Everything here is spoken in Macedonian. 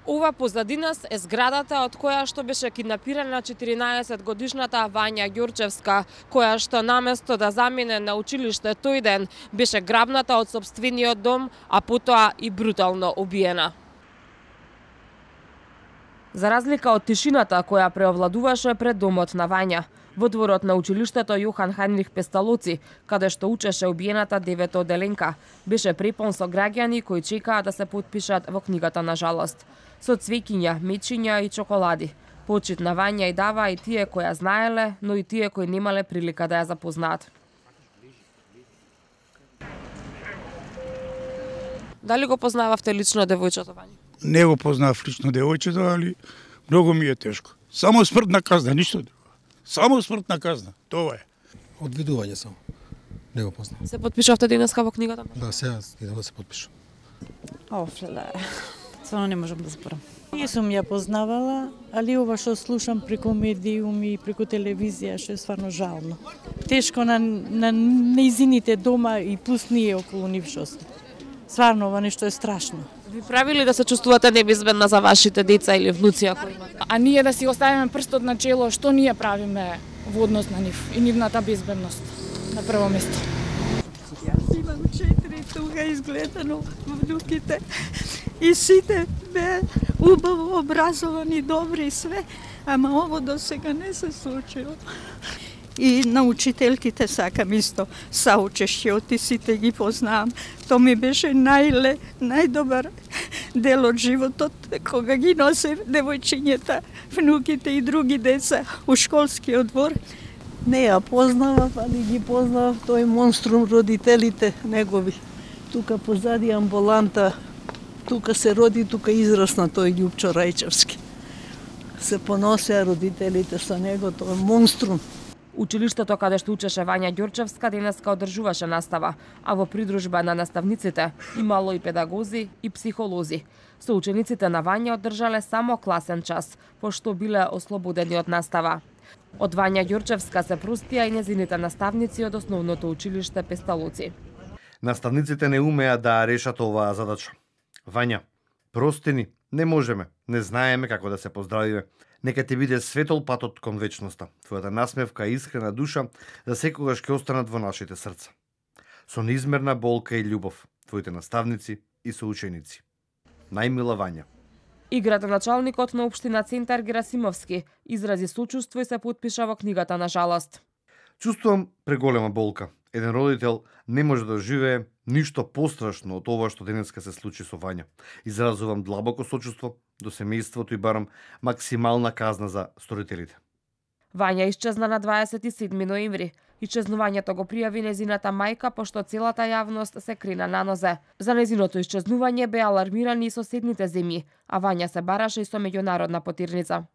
Ова позади нас е зградата од која што беше киднапирана 14-годишната Вања Ѓурчевска, која што наместо да замине на училиште тој ден, беше грабната од сопствениот дом, а потоа и брутално убиена. За разлика од тишината која преовладуваше пред домот на Вања, во дворот на училиштето Јохан Хајнрих Песталоци, каде што учеше убиената 9-оделенка, беше препон со граѓани кои чекаа да се потпишат во книгата на жалост. Со цвеќиња, мечиња и чоколади. Почит на Вања и дава и тие кои ја знаеле, но и тие кои немале прилика да ја запознаат. Дали го познававте лично девојчето Вања? Не го познав лично девојчето, али многу ми е тешко. Само смртна казна, ништо друго. Само смртна казна, тоа е. Одвидување само. Не го познав. Се потпишавте денеска во книгата? Да, сега идам да се потпишам. Офле, стварно не можам да зборам. Не сум ја познавала, али ова што слушам преку медиуми и преку телевизија, што е стварно жално. Тешко на нејзините дома и плюс ние околу нив што сме. Стварно ова нешто е страшно. Ви правили да се чувствувате небезбедна за вашите деца или внуци ако имате? А ние да си оставиме прстот на чело, што ние правиме во однос на нив и нивната безбедност на прво место. Јас имам 4 туга изгледано внуките и сите бе убаво образовани, добри и све, ама ово до сега не се случило. И на учителките сакам исто саучешće, од сите ги познавам. Тоа ми беше најдобар дел од животот, кога ги носе девојчињата, внуките и други деца у школскиот двор. Не ја познавав, али ги познавав тој монструм родителите негови. Тука позади амбуланта, тука се роди, тука израсна тој Љупчо Рајчевски. Се поносеа родителите со него, тој монструм. Училиштето каде што учеше Вања Ѓурчевска денеска одржуваше настава, а во придружба на наставниците имало и педагози и психолози. Со учениците на Вања одржале само класен час, пошто биле ослободени од настава. Од Вања Ѓурчевска се простија и незините наставници од основното училиште Песталоци. Наставниците не умеа да решат оваа задача. Вања, прости ни, не можеме, не знаеме како да се поздравиме. Нека ти биде светол патот кон вечноста. Твојата насмевка и искрена душа за секогаш ќе останат во нашите срца. Со неизмерна болка и љубов, твоите наставници и соученици. Најмила Вања. И градоначалникот на општина Центар Герасимовски изрази сочувство и се потпиша во книгата на жалост. Чувствувам преголема болка. Еден родител не може да живее ништо пострашно од ова што денеска се случи со Вања. Изразувам длабоко сочувство до семејството и барам максимална казна за сторителите. Вања исчезна на 27 ноември. Исчезнувањето го пријави незината мајка, пошто целата јавност се крена на нозе. За незиното исчезнување беа алармирани и соседните земји, а Вања се бараше и со меѓународна потирница.